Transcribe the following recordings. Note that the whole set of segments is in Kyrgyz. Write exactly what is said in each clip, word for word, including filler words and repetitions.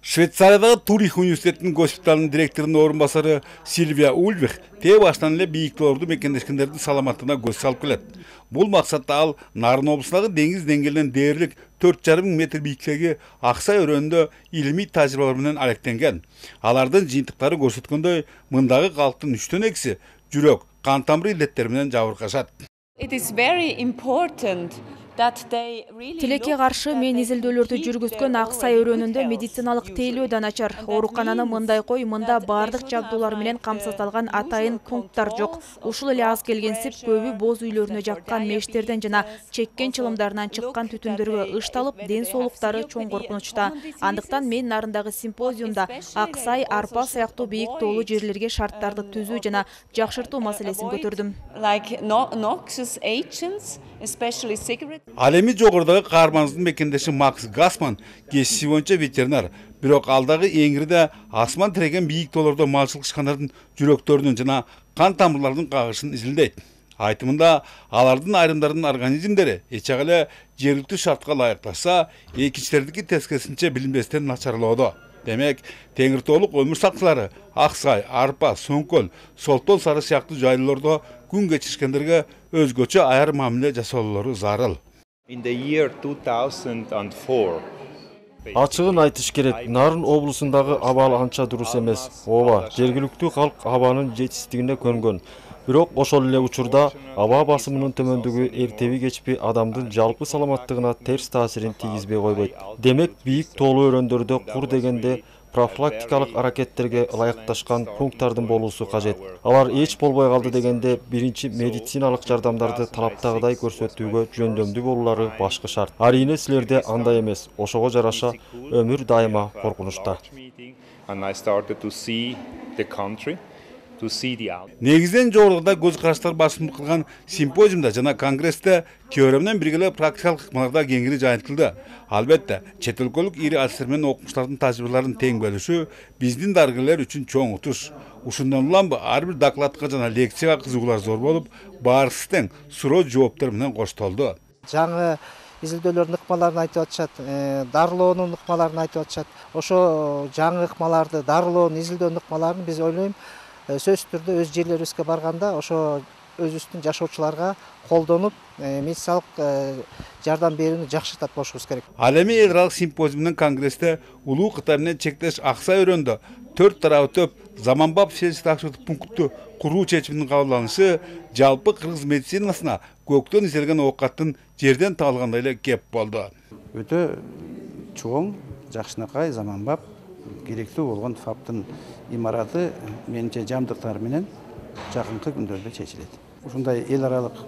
Швейцариядагы Турих университетинин госпиталынын директорунун орун басары Сильвия Ульвих тээ баштан эле бийик тоолорду мекендешкендердин саламаттыгына көз салып келет. Бул максатта ал Нарын облусундагы деңиз деңгээлинен дээрлик төрт жарым метр бийиктиги Аксай өрөөнүндө илимий тажрыйбалар менен алектенген. Алардын жыйынтыктары көрсөткөндөй, мындагы калктын үчтөн экиси жүрөк, кан тамыр илеттери менен жабыркашат. Тилекке каршы мен изилдөөлөрдү жүргүзгөн Аксай өрөөнүндө медициналык тейлөө да начар. Оорукананы мындай кой, мында бардык жабдуулар менен камсыздалган атайын пункттар жок. Ушул эле аз келгенсип көбү боз үйлөрүнө жаккан мештерден жана чеккен чылымдарынан чыккан түтүндөргө ышталып, ден соолуктары чоң коркунучта. Андыктан мен Нарындагы симпозиумда Аксай, Арпа сыяктуу бийик тоолуу жерлерге шарттарды түзүү жана жакшыртуу маселесин көтөрдүм. Ал эми жогорудагы каармандын мекендеши Макс Гасман кесиби боюнча ветеринар, бирок алдагы эңирде асман тиреген бийик тоолордо малчылык ишканалардын жүрөктөрүнүн жана кан тамырларынын кагышын изилдейт. Айтымында алардын айрымдарынын организмдери эчек эле жергиликтүү шартка ылайыкташса, экинчилердики тескерисинче билинбестен начарлоодо. Демек, теңир тоолук өмүр сакчылары Аксай, Арпа, Соңкөл, Солтон Сары сыяктуу жайлоодо күн кечиришкендерге өзгөчө аяр мамиле жасоолору зарыл. Ачыгын айтыш керек, Нарын облусундагы аба анча дурус эмес. Ооба, жергиликтүү калк абанын жетишсиздигине көнгөн. Бирок ошол эле учурда аба басымынын төмөндүгү эртеби кечпи адамдын жалпы саламаттыгына терс таасирин тийгизбей койбойт. Демек, бийик тоолуу өрөөндөрдө кур дегенде профилактикалык аракеттерге ылайыкташкан пункттардын болуусу кажет. Алар эч болбой калды дегенде биринчи медициналык жардамдарды талаптагыдай көрсөтүүгө жөндөмдүү болулары башкы шарт. Арийне силерде андай эмес. Ошого жараша өмүр дайыма коркунучта. Негизден жогоруда көз караштар басымдык кылган симпозиумда жана конгрессте теория менен бирге эле практикалык ыкмаларда кеңири жайылтылды. Албетте, чет өлкөлүк ири алчтар менен окумуштардын тажрыйбаларын тең бөлүшүү биздин дарыгерлер үчүн чоң утуш. Ушундан улам ар бир докладка жана лекцияга кызыгуулар зор болуп, баарысы тең суроо жооптор менен коштолду. Жаңы изилдөөлөрдүн ыкмаларын айтып атышат, дарылоонун ыкмаларын айтып атышат. Ошо жаңы ыкмаларды, дарылоонун, изилдөөнүн ыкмаларын биз ойлойм сөзсүз түрдө өз жерлерибизге барганда ошо өзүбүздүн жашоочуларга колдонуп, медициналык жардам берүүнү жакшыртат болушубуз керек. Ал эми эл аралык симпозиум менен конгрессте улуу Кытай менен чектеш Аксай өрөөнүндө төрт тарабы төп заманбап фельдшер пунктту куруу чечиминин кабыл алынышы жалпы кыргыз медицинасына көктөн изелген оокаттын жерден табылгандай эле кеп болду. Өтө чоң, жакшынакай, заманбап, керектүү болгон фаптын имараты менимче жабдыктар менен жакынкы күндөрдө чечилет. Ушундай эл аралык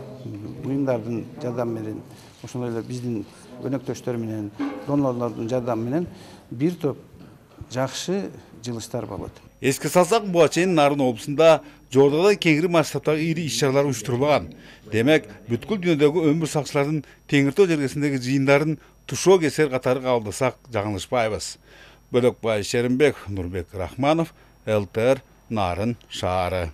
уюмдардын жардамы менен, ошондой эле биздин өнөктөштөр менен, донорлордун жардамы менен бир топ жакшы жылыштар болот. Эске салсак, буга чейин Нарын облусунда жогоруда кеңири масштабтагы ири иш-чаралар уюштурулган. Демек, бүткүл дүйнөдөгү өмүр сакчылардын теңир тоо жергесиндеги жыйындарын тушоо кесер катары кабылдасак жаңылышпайбыз. Бөлөкбай Шеримбек, Нурбек Рахманов, эл тэ эр Нарын шаары.